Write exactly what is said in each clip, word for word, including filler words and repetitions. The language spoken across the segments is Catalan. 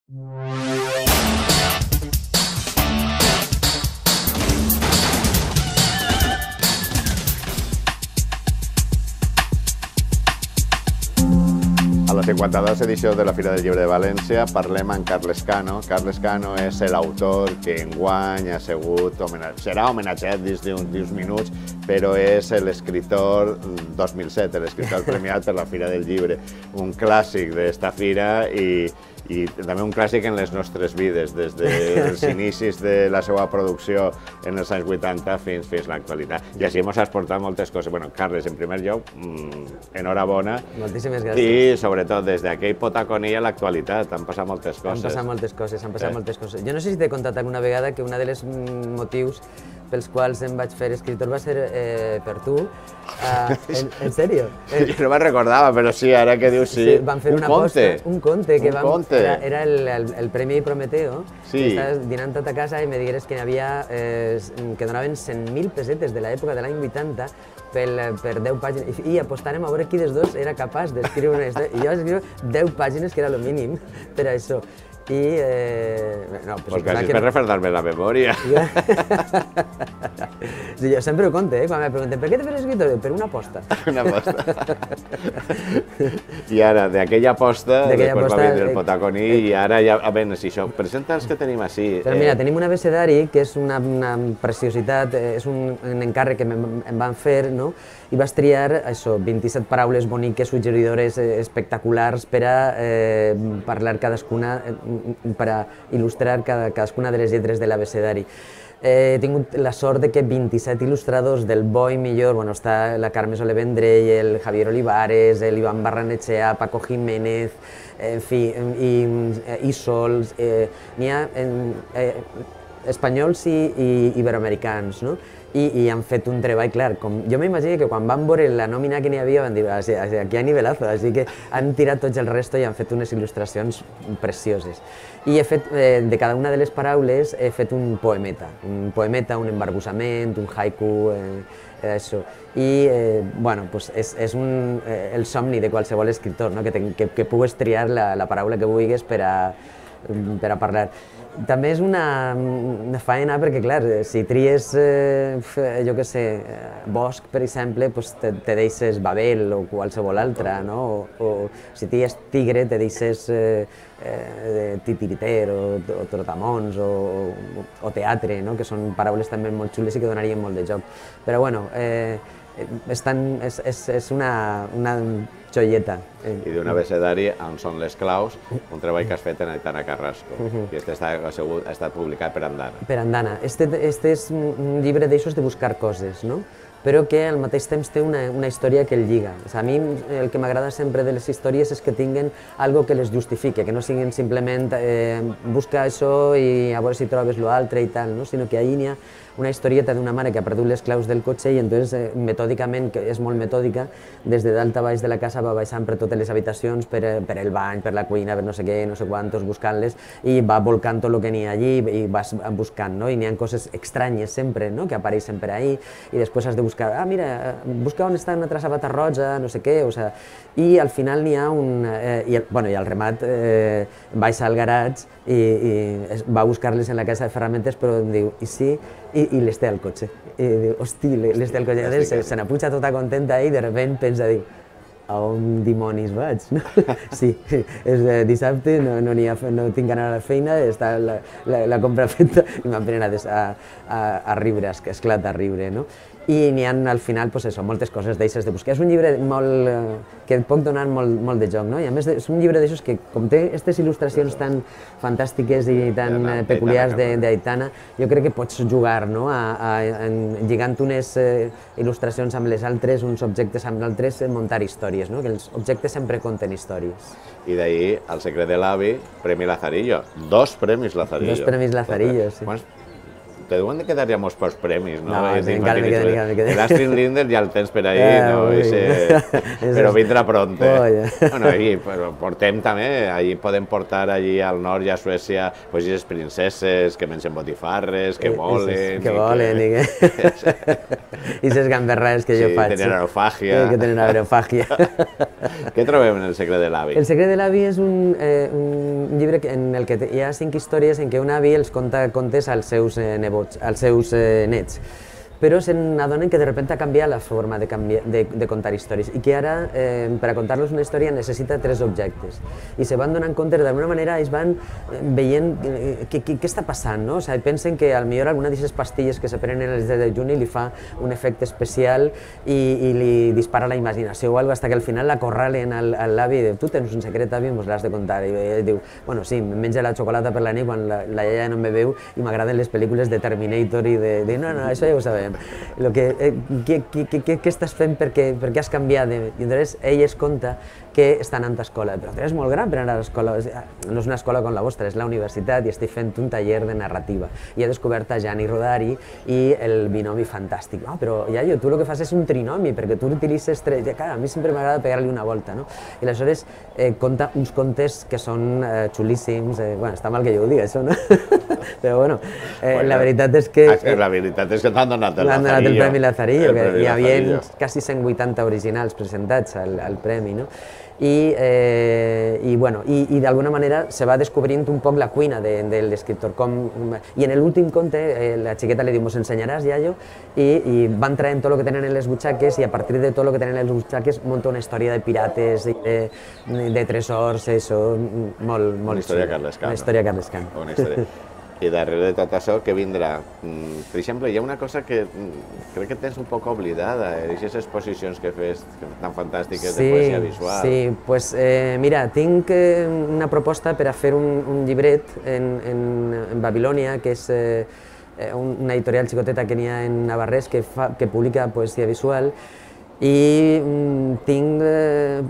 A la cinquanta-dos edició de la Fira del Llibre de València parlem amb Carles Cano. Carles Cano és l'autor que enguany ha sigut homenatjat, serà homenatjat dins d'uns minuts, però és l'escriptor dos mil set, l'escriptor premiat per la Fira del Llibre, un clàssic d'esta fira i i també un clàssic en les nostres vides, des dels inicis de la seva producció en els anys vuitanta fins fins a l'actualitat. I així ens has portat moltes coses. Bueno, Carles, en primer lloc, enhorabona. Moltíssimes gràcies. I, sobretot, des d'aquell potaconí a l'actualitat han passat moltes coses. Han passat moltes coses, han passat moltes coses. Jo no sé si t'he contat alguna vegada que un dels motius pels quals em vaig fer escriptor va ser per tu. En sèrio? Jo no me'n recordava, però sí, ara que dius sí. Van fer una aposta, un conte, que era el Premi Prometeo, que estaves dinant tot a casa i me digueres que que donaven cent mil pessetes de l'època de l'any vuitanta per deu pàgines, i apostàrem a veure qui dels dos era capaç d'escriure una història. I jo vaig escriure deu pàgines, que era el mínim per a això. I... Pues quasi per refredar-me la memòria. Jo sempre ho conto, quan me pregunten per què te fes escriptor? Per una aposta. Una aposta. I ara, d'aquella aposta, després va vindre el potaconí i ara ja... A veure, si això, presenta els que tenim així. Però mira, tenim un abecedari que és una preciositat, és un encàrrec que em van fer, no? I vas triar, això, vint-i-set paraules boniques, suggeridores, espectaculars per a parlar cadascuna, per a il·lustrar cadascuna de les lletres de l'abecedari. He tingut la sort que vint-i-set il·lustradors del bo i millor, bueno, està la Carme Soler Vendrell, el Javier Olivares, l'Ivan Barranechea, Paco Jiménez, en fi, i Sols, n'hi ha espanyols i iberoamericans, no? I han fet un treball, clar, jo m'imagino que quan van veure la nòmina que n'hi havia van dir aquí hi ha nivelazo, així que han tirat tots el resto i han fet unes il·lustracions precioses. I he fet, de cada una de les paraules, he fet un poemeta, un poemeta, un embarbussament, un haiku, això. I, bueno, és el somni de qualsevol escriptor, que pugues triar la paraula que vulguis per a parlar. També és una faena perquè, clar, si tries, jo què sé, bosc, per exemple, te deixes Babel o qualsevol altra, no? O si tries tigre, te deixes titiriter o trotamons o teatre, que són paraules també molt xules i que donarien molt de joc. Però, bueno, és una joieta. I d'un abecedari on són les claus, un treball que has fet en Aitana Carrasco, i aquest ha estat publicat per Andana. Per Andana. Este és un llibre d'aixòs de buscar coses, no? Però que al mateix temps té una història que el lliga. A mi el que m'agrada sempre de les històries és que tinguen algo que les justifique, que no siguin simplement busca això i a veure si trobes l'altre i tal, sinó que allí n'hi ha una historieta d'una mare que ha perdut les claus del cotxe i entonces metòdicament, que és molt metòdica, des de dalt a baix de la casa va baixant per totes les habitacions, per el bany, per la cuina, per no sé què, no sé quantos, buscant-les, i va volcant tot el que n'hi ha allí i vas buscant, no? I n'hi ha coses estranyes sempre, no?, que apareixen per ahí, i després has de buscar, ah, mira, busca on està una altra sabata roja, no sé què, o sigui, i al final n'hi ha un... Bueno, i al remat baixa al garatge i va a buscar-les en la casa de ferramentes, però em diu, i sí, i les té al cotxe. I diu, hosti, les té al cotxe. Se n'apuja tota contenta i de sobte pensa, diu, a on dimonis vaig? Sí, és dissabte, no tinc d'anar a la feina, està la compra feta i m'han prenat a riure, esclata a riure, no? I n'hi ha al final, doncs això, moltes coses d'aixes de buscar. És un llibre que et pot donar molt de joc, no? I a més és un llibre d'aixos que, com té aquestes il·lustracions tan fantàstiques i tan peculiars d'Aitana, jo crec que pots jugar, no?, lligant unes il·lustracions amb les altres, uns objectes amb altres, muntar històries, no? Que els objectes sempre conten històries. I d'ahir, El secret de l'avi, Premi Lazarillo. Dos premis Lazarillo. Dos premis Lazarillo, sí. te deuen de quedar ja molts pocs premis, no? No, És dir, encara me perquè queda, encara me queda. L'Astrid Lindner ja el tens per ahí, Eh, no? ui. Ese... Però vindrà pronte. Oye. Bueno, allí però portem també, allí podem portar allí al nord i a Suècia pues, les princeses que mengen botifarres, que volen... Que volen, i que... I ses gamberrades que jo Sí, faig. tenen aerofàgia. Que tenen aerofàgia. Què trobem en El secret de l'avi? El secret de l'avi és un, eh, un llibre que- en el que hi ha cinc històries en què un avi els conta contes als seus eh, nebots, als seus eh, nets. Però se n'adonen que de repente ha canviat la forma de, canviar, de, de contar històries i que ara, eh, per a contar-los una història, necessita tres objectes. I se van donant compte, d'alguna manera, ells van veient eh, què, què, què està passant, no? O sigui, pensen que potser alguna d'aquestes pastilles que se prenen el deu de juny li fa un efecte especial i, i li dispara la imaginació o alguna cosa, fins que al final la corralen al, al l'avi i diu, tu tens un secret, avi, mos l'has de contar. I ell diu, bueno, sí, menja la xocolata per la nit quan la, la iaia no me veu i m'agraden les pel·lícules de Terminator i de, de no, no, això ja ho sabem. Lo que, eh, què, què, què, què estàs fent perquè, perquè has canviat? De... I llavors ell es conta que està anant a escola, però tu eres molt gran per anar a l'escola, no és una escola com la vostra, és la universitat i estic fent un taller de narrativa. I he descobert a Gianni Rodari i el binomi fantàstic. Ah, però iaio, tu el que fas és un trinomi, perquè tu utilitzes tres... Clar, a mi sempre m'agrada pegar-li una volta, no? I aleshores eh, conta uns contes que són eh, xulíssims, eh, bueno, està mal que jo ho digui, això, no? Però bueno, eh, bueno, la veritat és que... Eh, la veritat és que t'han donat el Lazarillo. M'han donat el Premi Lazarillo, que hi havia Lazarillo. quasi cent vuitanta originals presentats al, al premi, no? I, eh, i, bueno, i, i d'alguna manera se va descobrint un poc la cuina de, de l'escriptor. I en l'últim conte eh, la xiqueta li diu, mos ensenyaràs, iaio? I, i van traient tot el que tenen en les butxaques i a partir de tot el que tenen en les butxaques munta una història de pirates, de, de tresors, això, molt, molt... Una història carlescana. Una història carlescana. Una història. I darrere de tot això, què vindrà? Per exemple, hi ha una cosa que crec que tens un poc oblidada, aquestes exposicions que fes tan fantàstiques de poesia visual. Sí, pues eh, mira, tinc eh, una proposta per a fer un, un llibret en, en, en Babilònia, que és eh, una editorial xicoteta que n'hi ha en Navarrés que, fa, que publica poesia visual, i mm, tinc eh,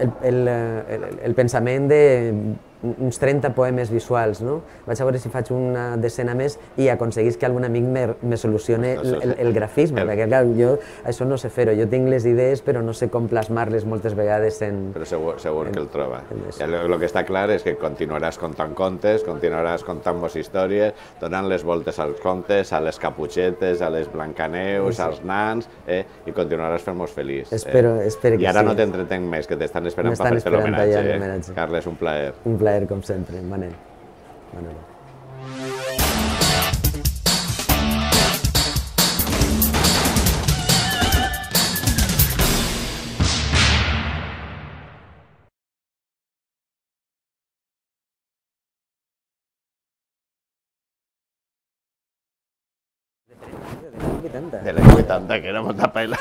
el, el, el, el pensament de uns trenta poemes visuals, no? Vaig a veure si faig una decena més i aconseguís que algun amic me, me solucione el, el, el grafisme, perquè clar, jo això no sé fer-ho, jo tinc les idees però no sé com plasmar-les moltes vegades en... Però segur, segur en, que el troba. El que està clar és que continuaràs contant contes, continuaràs contant vos històries, donant les voltes als contes, a les caputxetes, a les blancaneus, sí, als nans, eh? I continuaràs fent-nos feliç. Espero, eh? espero que sí. I ara no t'entretenc més, que t'estan esperant per fer l'homenatge. Eh? Carles, un plaer. Un plaer, com sempre, Manel. Manel. De l'any vuitanta, que era molta pela.